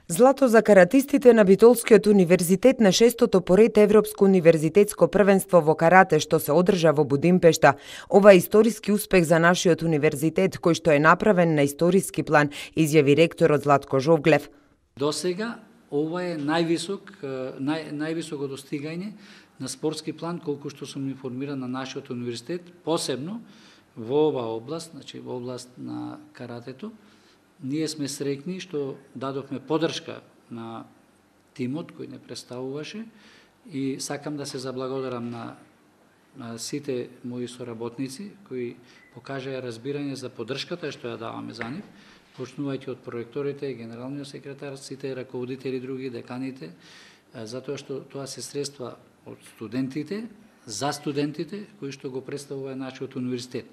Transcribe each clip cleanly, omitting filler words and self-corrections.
Злато за каратистите на Битолскиот универзитет на 6-тото поред Европско универзитетско првенство во карате што се одржа во Будимпешта. Ова е историски успех за нашиот универзитет кој што е направен на историски план, изјави ректорот Златко Жовглев. Досега ова е највисоко достигање на спортски план колку што сум информиран на нашиот универзитет, посебно во оваа област, значи во област на каратето. Ние сме среќни што дадовме поддршка на тимот кој не представуваше и сакам да се заблагодарам на сите мои соработници кои покажаа разбирање за поддршката што ја даваме за нив, почнувајќи од проректорите, генералниот секретар, сите раководители други, деканите, затоа што тоа се средства од студентите, за студентите кои што го представува нашиот универзитет.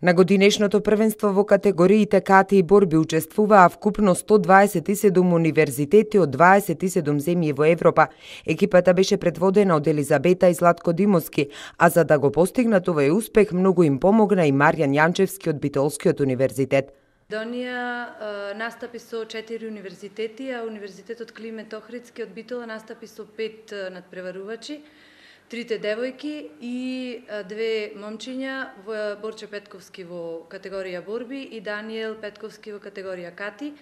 На годинешното првенство во категориите кати и борби учествуваа вкупно 127 универзитети од 27 земји во Европа. Екипата беше предводена од Елизабета и Златко Димовски, а за да го постигнат овој успех многу им помогна и Маријан Јанчевски од Битолскиот универзитет. Македонија настапи со 4 универзитети, а Универзитетот Климент Охридски од Битола настапи со 5 надпреварувачи. 3 девојки и 2 момчиња, Борче Петковски во категорија борби и Даниел Петковски во категорија кати,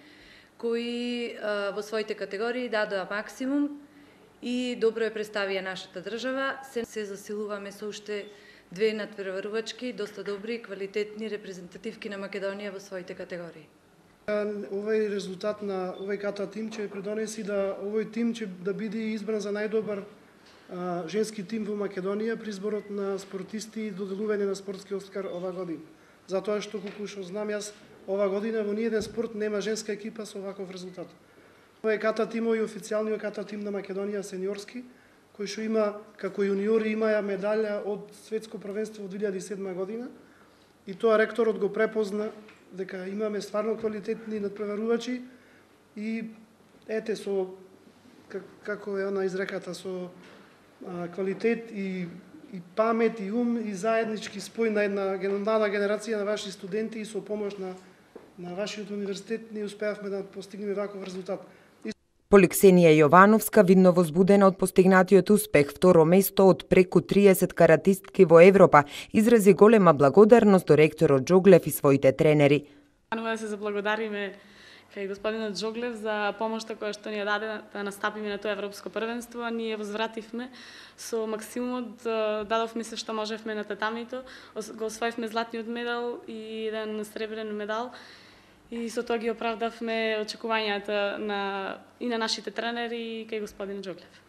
кои во своите категории дадоа максимум и добро ја представија нашата држава. Се засилуваме со уште 2 надпреварувачки, доста добри, квалитетни репрезентативки на Македонија во своите категории. Овој резултат на овој ката тим ќе придонеси да овој тим ќе да биде избран за најдобар женски тим во Македонија при изборот на спортисти и доделување на спортски Оскар ова година. Затоа што колку што знам јас, ова година во ниеден спорт нема женска екипа со ваков резултат. Ова е ката тимови и официјалниот ката тим на Македонија сениорски, кој што има како јуниори имаја медалја од светско првенство во 2007 година и тоа ректорот го препозна дека имаме стварно квалитетни надпреварувачи и ете со како е она изреката со квалитет и памет и ум и заеднички спој на една млада генерација на ваши студенти и со помош на вашиот универзитет ние успеавме да постигнеме ваков резултат. Поликсенија Јовановска, видно возбудена од постигнатиот успех, второ место од преку 30 каратистки во Европа, изрази голема благодарност до ректорот Джоглев и своите тренери. Да се заблагодариме кај господинот Джоглев за помошта која што ни ја даде да настапиме на тоа европско првенство. Ние возвративме со максимумот, дадовме се што можевме на татамито, го освоивме златниот медал и еден сребрен медал и со тоа ги оправдавме очекувањата и на нашите тренери и кај господинот Джоглев.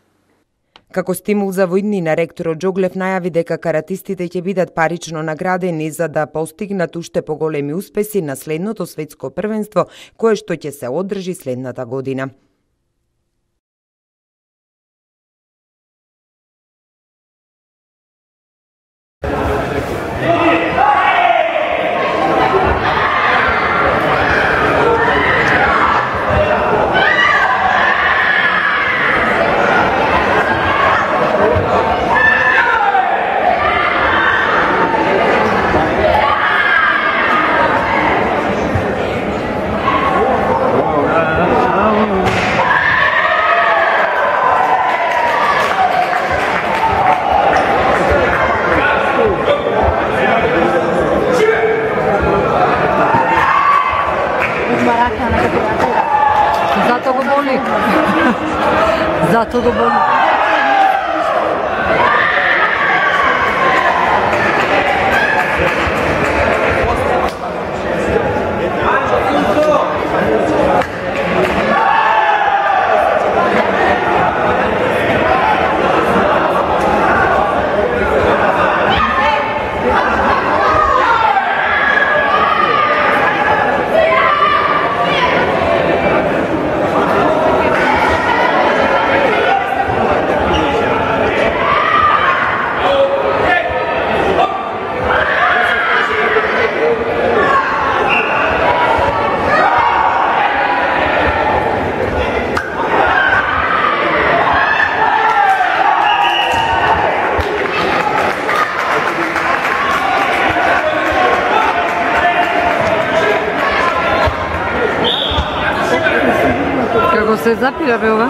Како стимул за војднина, ректорот Джоглев најави дека каратистите ќе бидат парично наградени за да постигнат уште поголеми успеси на следното светско првенство, кое што ќе се одржи следната година. Zato go boli. Го се запира бе ова?